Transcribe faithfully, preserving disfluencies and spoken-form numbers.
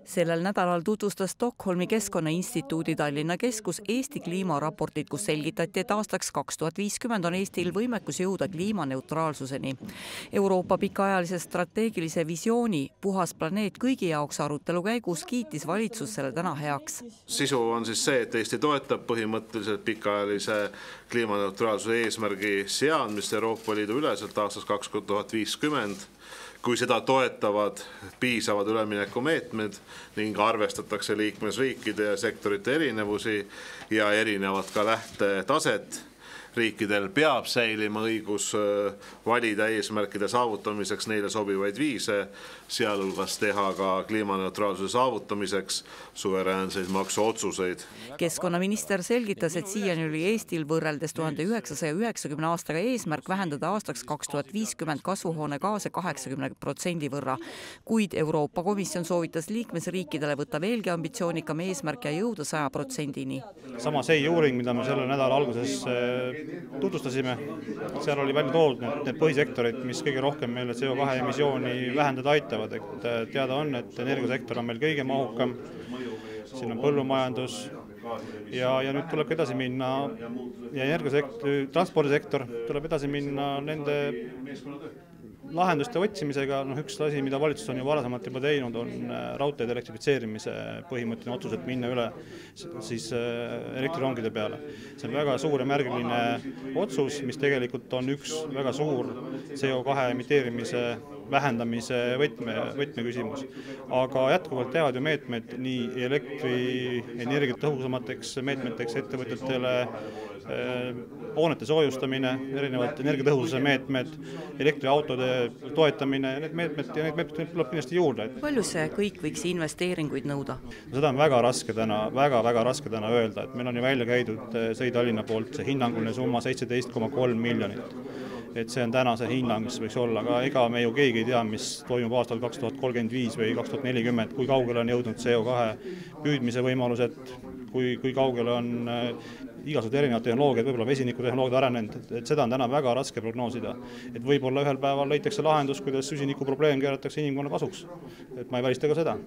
Sellel nädalal tutvustas Stockholmi Keskkonnainstituudi Tallinna Keskus Eesti kliimaraportit, kus selgitati, et aastaks kaks tuhat viiskümmend on Eestil võimekus jõuda kliimaneutraalsuseni. Euroopa pikaajalise strateegilise visiooni Puhas planeet kõigi jaoks arutelu käigus kiitis valitsus selle täna heaks. Sisu on siis see, et Eesti toetab põhimõtteliselt pikaajalise kliimaneutraalsuse eesmärgi seadmist Euroopa Liidu üleselt aastaks kaks tuhat viiskümmend. Kui seda toetavad piisavad üleminekumeetmed ning arvestatakse liikmesriikide ja sektorite erinevusi ja erinevad ka lähtetaset. Riikidel peab säilima õigus valida eesmärkide saavutamiseks neile sobivaid viise, sealhulgas teha ka kliimaneutraalsuse saavutamiseks suveräänseid maksuotsuseid. Keskkonnaminister selgitas, et siiani oli Eestil võrreldes tuhande üheksasaja üheksakümne aastaga eesmärk vähendada aastaks kaks tuhat viiskümmend kasvuhoonegaase kaheksakümne protsendi võrra. Kuid Euroopa Komisjon soovitas liikmesriikidele võtta veelgi ambitsioonikam eesmärk ja jõuda saja protsendini. Sama see uuring, mida me selle nädala alguses tutvustasime, seal oli välja toodud need, need põhisektorid, mis kõige rohkem meile C O kahe emissiooni vähendada aitavad. Et teada on, et energiasektor on meil kõige mahukam, siin on põllumajandus ja, ja nüüd tuleb edasi minna ja energiasektor, transpordisektor tuleb edasi minna nende lahenduste otsimisega. No, üks asi, mida valitsus on ju varasemalt juba teinud, on raudteede elektrifitseerimise põhimõtteline otsus, et minna üle siis elektrirongide peale. See on väga suur ja märgiline otsus, mis tegelikult on üks väga suur C O kahe emiteerimise vähendamise võtme, võtmeküsimus. Aga jätkuvalt teevad ju meetmed nii elektrienergia tõhusamateks meetmeteks ettevõtjatele, hoonete soojustamine, erinevad energiatõhususe meetmed, elektriautode toetamine ja need meetmed ja need meetmed tuleb kindlasti juurde. Palju see kõik võiks investeeringuid nõuda? Seda on väga raske täna, väga, väga raske täna öelda, et meil on ju välja käidud Sõi Tallinna poolt see hinnanguline summa seitseteist koma kolm miljonit. Et see on täna see hinnang, mis võiks olla, aga ega me ju keegi ei tea, mis toimub aastal kaks tuhat kolmkümmend viis või kaks tuhat nelikümmend, kui kaugele on jõudnud C O kahe püüdmise võimalused, kui, kui kaugele on igasugused erinevad tehnoloogiad, võib-olla vesinikutehnoloogiad arenenud, et seda on täna väga raske prognoosida. Et võib-olla ühel päeval leitakse lahendus, kuidas süsiniku probleem keeratakse inimkonna kasuks. Et ma ei välista ka seda.